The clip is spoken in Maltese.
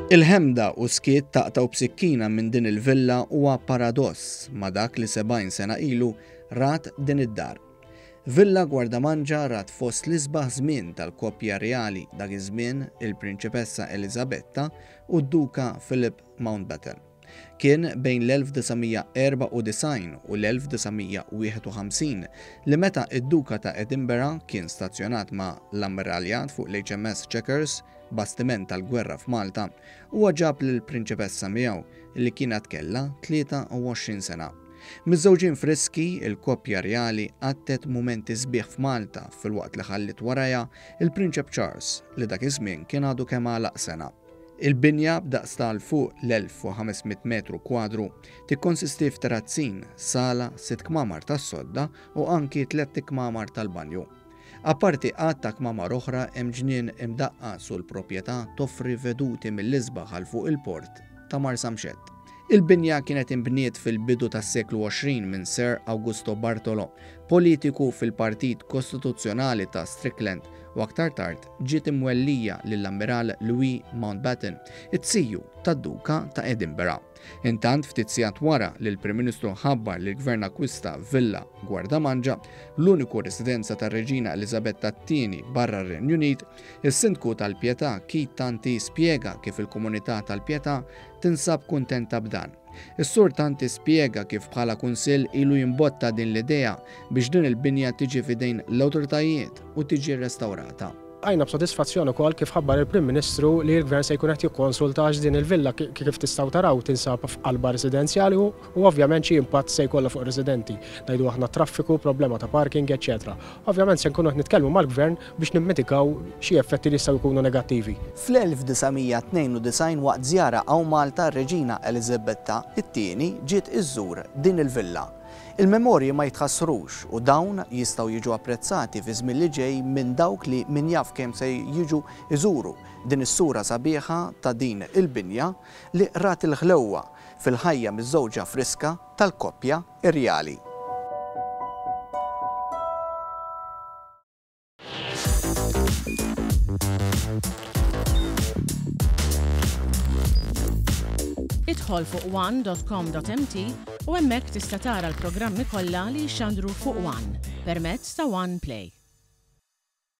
Il-ħemda u s-skiet taqtgħu b'sikkina minn din il-villa huwa paradoss ma' dak li 70 sena ilu rat din id-dar. Villa Gwardamanġa rat fost l-isbaħ żmien tal-koppja rjali dak iż-żmien il-Prinċipessa Eliżabetta u d-Duka Philip Mountbatten. Kien bejn l-1994 u l-1951 li meta d-Duka ta' Edinburgh kien stazzjonat ma' l-Ammiraljat fuq l-HMS Chequers, bastiment tal-gwerra f'Malta, huwa ġab lill-Prinċipessa miegħu li kienet kellha 23 sena. Miżżewġin friski, il-koppja rjali qattgħet mumenti sbieħ f'Malta filwaqt li ħalliet warajha l-Prinċep Charles li dak iż-żmien kien għadu kemm għalaq sena. Il-binja b'daqs ta' 'l fuq l-1,500 metru kwadru tikkonsisti f'terazzin, sala, sitt kmamar tas-sodda u anki tlett ikmamar tal-banju. Apparti għadd ta' kmamar oħra hemm ġnien imdaqqas u l-proprjetà toffri veduti mill-isbaħ għal fuq il-port ta' Marsamxett. Il-binja kienet inbniet fil-bidu tas-seklu 20 minn Sir Augusto Bartolo, politiku fil-Partit Kostituzzjonali ta' Strickland u aktar tard ġiet imwellija lill-Ammiral Louis Mountbatten, it-ziju tad-Duka ta' Edinburgh. Intant, ftit sigħat wara li l-Prim Ministru ħabbar li l-Gvern akkwista Villa Gwardamanġa, l-uniku residenza tar-Reġina Eliżabetta t-Tieni barra r-Renju Unit, is-Sindku tal-Pietà Keith Tanti spjega kif il-komunità tal-Pietà tinsab kuntenta b'dan. Is-Sur Tanti spjega kif bħala Kunsill ilu jimbotta din l-idea biex din il-binja tiġi f'idejn l-awtoritajiet u tiġi rrestawrata. Bqajna b'sodisfazzjon ukoll kif ħabbar il-Prim Ministru li l-Gvern se jkun qed jikkonsulta għax din il-villa kif tistgħu taraw tinsab f'qalba residenzjali u ovvjament xi impatt se jkollha fuq ir-residenti. Ngħidu aħna traffiku, problema ta' parking, eċċetera. Ovvjament se nkunu qed nitkellmu mal-Gvern biex nimmitigaw xi effetti li jistgħu jkunu negattivi. Fl-1992 waqt żjara hawn Malta r-Reġina Eliżabetta t-Tieni ġiet iżżur din il-villa. Il-memorji ma jitħassrux u dawn jistgħu jiġu apprezzati fiż-żmien li ġej minn dawk li min jaf kemm se jiġu jżuru din is-sura sabiħa ta' din il-binja li rat il-ħlewwa fil-ħajja miżżewġa friska tal-koppja rjali. Idħol fuq one.com.mt u hemmhekk tista' tara l-programmi kollha li jixxandru fuq One permezz ta' One Play.